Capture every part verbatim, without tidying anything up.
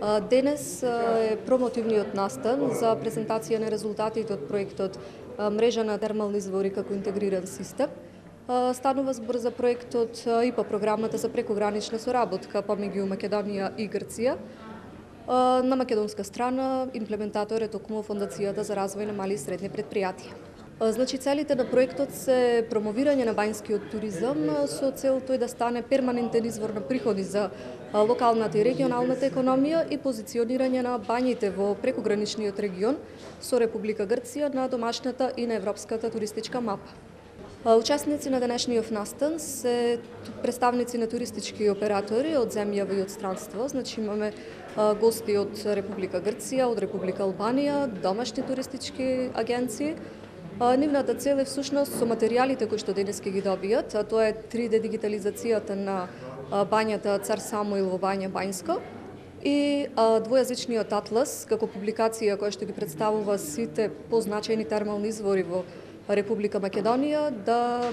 Денес е промотивниот настан за презентација на резултатите од проектот Мрежа на термални извори како интегриран систем. Станува збор за проектот и по програмата за прекогранична соработка помеѓу Македонија и Грција. На македонска страна имплементатор е токму Фондацијата за развој на мали и средни предпријатија. Значи, целите на проектот се промовирање на бањскиот туризам со цел тој да стане перманентен извор на приходи за локалната и регионалната економија и позиционирање на бањите во прекограничниот регион со Република Грција на домашната и на европската туристичка мапа. Учесници на денешниот настан се представници на туристички оператори од земјава и од странство. Значи, имаме гости од Република Грција, од Република Албанија, домашни туристички агенции. Нивната цел е всушност со материјалите кои што денес ќе ги добијат, а тоа е три де дигитализацијата на бањата Цар Самуил во бања Бањско и двојазичниот атлас како публикација која што ги представува сите позначајни термални извори во Република Македонија да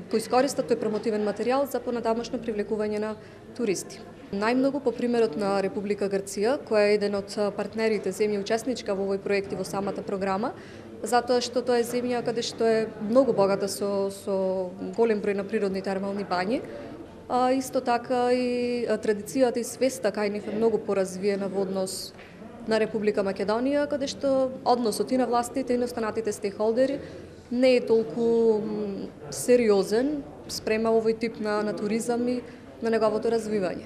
го искористат тој промотивен материјал за понатамошно привлекување на туристи. Најмногу по примерот на Република Грција, која е еден од партнерите, земја учесничка во овој проект и во самата програма, затоа што тоа е земја каде што е многу богата со, со голем број на природни термални бањи. А, исто така и традицијата и свеста кај нив е многу поразвиена во однос на Република Македонија, каде што односот и на властите и на останатите стейкхолдери не е толку сериозен спрема овој тип на, на туризам и на неговото развивање.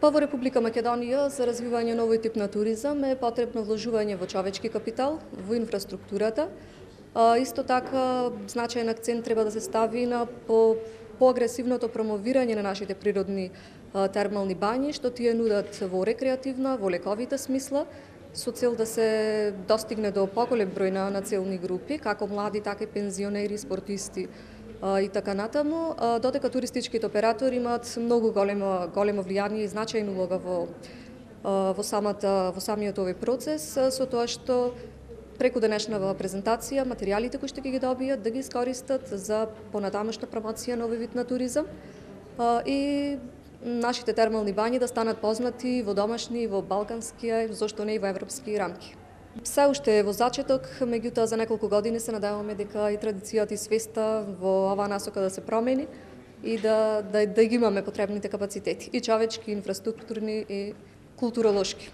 Па во Република Македонија за развивање на овој тип на туризам е потребно вложување во човечки капитал, во инфраструктурата. А, исто така значаен акцент треба да се стави на по поагресивното промовирање на нашите природни а, термални бањи, што тие нудат во рекреативна, во лековита смисла, со цел да се достигне до поголем број на, на целни групи, како млади, така и пензионери, спортисти и така натаму, додека туристичките оператори имаат многу големо големо влијание и значајна улога во во самата во самиот овој процес, со тоа што преку денешнава презентација материјалите кои што ќе ги добијат да ги искористат за понатамошна промоција на овој вид на туризам и нашите термални бањи да станат познати во домашни, во балкански, зошто не и во европски рамки. Се уште е во зачеток, меѓутоа за неколку години се надеваме дека и традицијата и свеста во оваа насока да се промени и да, да, да ги имаме потребните капацитети, и човечки, и инфраструктурни, и културолошки.